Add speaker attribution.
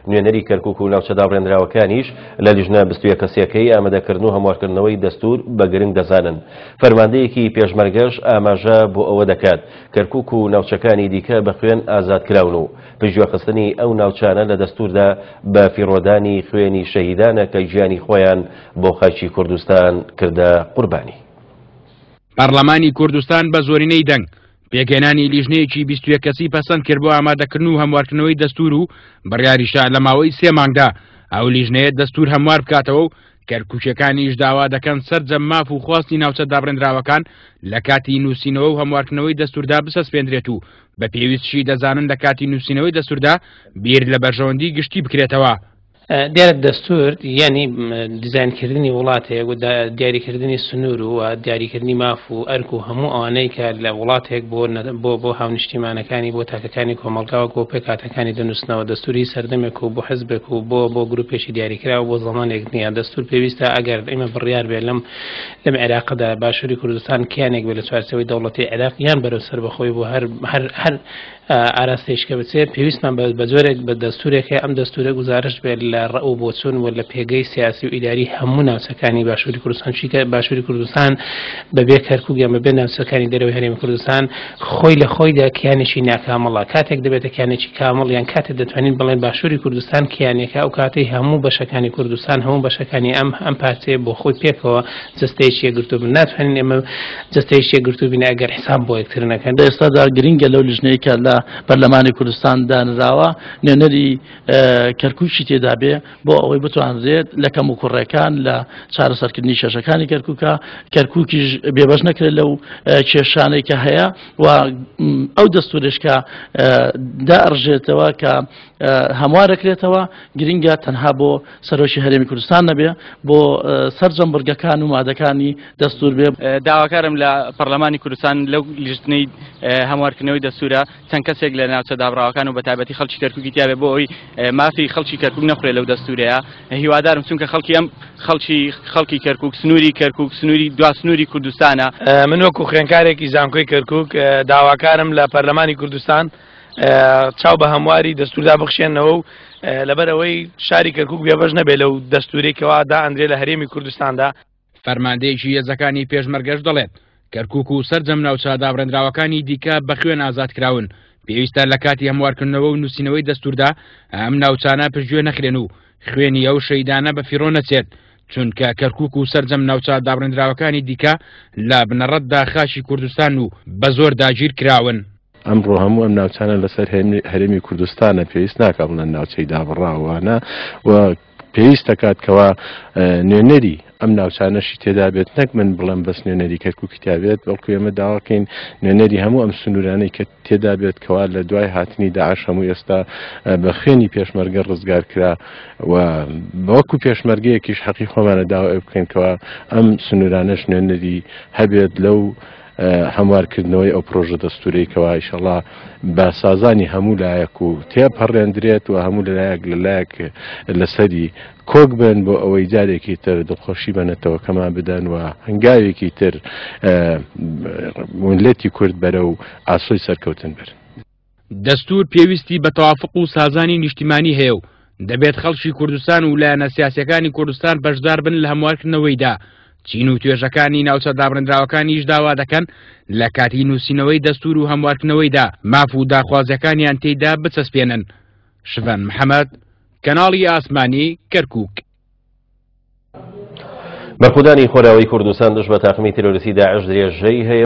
Speaker 1: نوێنەری کەرکوک و ناوچە دابڕێنراوەکانیش لە لیژنە 21 کەسیەکەی ئامادەکردن و هەموارکردنەوەی دەستور بە گرنگ دەزانن. فەرماندەیەکی پێشمەرگەش ئاماژە بۆ ئەوە دەکات کەرکوک و ناوچەکانی دیکە بە خوێن ئازادکراون و پشتگوێخستنی ئەو ناوچانە لە دەستوردا بە فیڕۆدانی خوێنی شەهیدانە کە گیانی خۆیان بۆ خاکی کوردستان کردە قوربانی.
Speaker 2: پەڕلەمانی کوردستان بە زۆرینەی دەنگ پێکهێنانی لیژنەیەکی 21 کەسی پەسەند کرد بۆ ئامادەکردن و هەموارکردنەوەی دەستور و بڕیاریشە لە ماوەی سێ مانگدا ئەو لیژنەیە دەستور هەموار بکاتەوە و کەرکوکیەکانیش داوا دەکەن سەرجەم ماف و خواستی ناوچە دابڕێندراوەکان لە کاتی نووسینەوە و هەموارکردنەوەی دەستوردا بسەسپێندرێت و بە پێویستشی دەزانن لە کاتی نووسینەوەی دەستوردا بیر لە بەرژەوەندی گشتی بکرێتەوە.
Speaker 3: دیارە دەستور یعنی دیزاینکردنی وڵاتێک و دیاریکردنی سنوور و دیاریکردنی ماف و ئەرک و هەموو ئەوانەی کە لە وڵاتێک بۆ بۆ بۆ هاونیشتیمانەکانی بۆ تاکەکانی کۆمەڵگا و بۆ پێکهاتەکانی دەنووسنەوە. دەستوری سەردەمێک و بۆ حزبێک و بۆ بۆ گروپێکی دیاریکراو بۆ زەمانێک نییە. دەستور پێویستە ئەگەر ئێمە بڕیار بێ لەم لەم عێراقدا باشووری کوردستان کیانێک بێ لە چوارچێوەی دەوڵەتی عێراق یان بەرەو سەربەخۆی بۆ هەر هەر هەر ئاراستەیش کە بچێت پێویستمان بە جۆرێک بە دەستورێک هەیە ئەم دەستورە گوزارشت بێت لە ڕەئ و بۆچوون و لە پێگەی سیاسی و ئیداری هەموو ناوچەکانی باشووری کوردستان، چونکە باشووری کوردستان بەبێ کەرکوک یان بەبێ ناوچەکانی دەرەوەی هەرێمی کوردستان خۆی لە خۆیدا کیانێکی ناکامڵە. کاتێک دەبێتە کیانێکی کامڵ یان کاتێک دەتوانین بڵێن باشووری کوردستان کیانێکە ئەو کاتەی هەموو بەشەکانی کوردستان هەموو بەشەکانی ئەم ئەم پارچەیە بۆ خۆی پێکەوە جەستەیەکی یەکگرتوو بن. ناتوانین ئێمە جەستەیەکی یەکگرتوو بین ئەگەر حساب بۆ یەکتر نەکەن.
Speaker 4: لە ئێستادا گرنگە لەو لیژنەی کە لە پەرلەمانی کوردستان دانراوە نوێنەری کەرکوکی تێدا بێ بۆ ئەوەی بتوانرێت لە کەموکوڕێکان لە چارەسەرکردنی کێشەکانی کەرکوکە کەرکوکیش بێبەش نەکرێت لەو کێشانەی کە هەیە و ئەو دەستورش کە داڕژێتەوە کە هەموارەکرێتەوە گرنگە تەنها بۆ سەرۆکی هەرێمی کوردستان نەبێ بۆ سەرجەم بڕگەکان و مادەکانی دەستور بێ.
Speaker 5: داواکارم لە پەرلەمانی کوردستان لەو لیژنەی هەموارکردنەوەی دەستورە چەند کەسێک لە ناوچە دابڕاوەکان و بەتایبەتی خەڵکی کەرکوکی تیاێ بۆ ئەوی مافی خەڵکی کەرکوک نەخورێ لەو دەستورەیە. هیوادارم چونکە خەڵکی ئەم خەڵکی خەڵکی کەرکوک سنووری کەرکوک سنووری دوا سنووری کوردستانە.
Speaker 6: من وەکو خوێندکارێکی زانکۆی کەرکوک داواکارم لە پەرلەمانی کوردستان چاو بە هەمواری دەستوردا بخشێنەوە و لەبەرئەوەی شاری کەرکوک بێبەش نەبێت لەو دەستورەی کەوا دائەندرێ لە هەرێمی کوردستاندا.
Speaker 2: فەرماندەیەکی هێزەکانی پێشمەرگەش دەڵێت، کەرکوک و سەرجەم ناوچە دابڕێندراوەکانی دیکە بە خوێن ئازادکراون، پێویستە لە کاتی هەموارکردنەوە و نووسینەوەی دەستوردا ئەم ناوچانە پشتگوێ نەخرێن و خوێنی ئەو شەهیدانە بە فیڕۆ نەچێت، چونکە کەرکوک و سەرجەم ناوچە دابڕێندراوەکانی دیکە لە بنەڕەتدا خاکی کوردستان و بە زۆر داگیرکراون.
Speaker 7: ئەمڕۆ هەموو ئەم ناوچانە لەسەر هەرێمی کوردستانە، پێویست ناکا بڵێن ناوچەی دابڕاوانە و پێویست دەکات کەوا نوێنەری ئەم ناوچانەشی تێدا بێت، نەک من بڵێم بەس نوێنەری کەرکوکی تیا بێت، بەڵکو ئێمە داواکەین نوێنەری هەموو ئەم سنوورانەی کە تێدا بێت کەوا لە دوای هاتنی داعش هەموو ئێستا بە خوێنی پێشمەرگە ڕزگار کرا و وەکو پێشمەرگەیەکیش حەقی خۆمانە داوا بکەین کەوا ئەم سنوورانەش نوێنەری هەبێت لەو هەموارکردنەوەی ئەو پرۆژە دەستورەی کەوا ئیشەڵا بە سازانی هەموو لایەک و تێپەڕێندرێت و هەموو لەلایەک لەلایەک لەسەری کۆک بن بۆ ئەوەی جارێکی تر دڵخۆشی بە نەتەوەکەمان بدەن و هەنگاوێکی تر میللەتی کورد بەرەو ئاسۆی سەرکەوتن برن.
Speaker 2: دەستوور پێویستی بە تەوافق و سازانی نیشتیمانی هەیە و دەبێت خەڵکی کوردستان و لایەنە سیاسیەکانی کوردستان بەشدار بن لە هەموارکردنەوەیدا. چین و توێژەکانی ناوچە دابڕێندراوەکانیش داوا دەکەن لە کاتی نووسینەوەی دەستوور و هەموارکردنەوەیدا ماف و داخوازیەکانیان تێیدا بچەسپێنن. شڤان محەمەد، کەناڵی ئاسمانی کەرکوک.
Speaker 1: بەرخودانی خۆراوی کوردستان دژ بە تاقمی تیرۆریستی داعش درێژەی هەیە.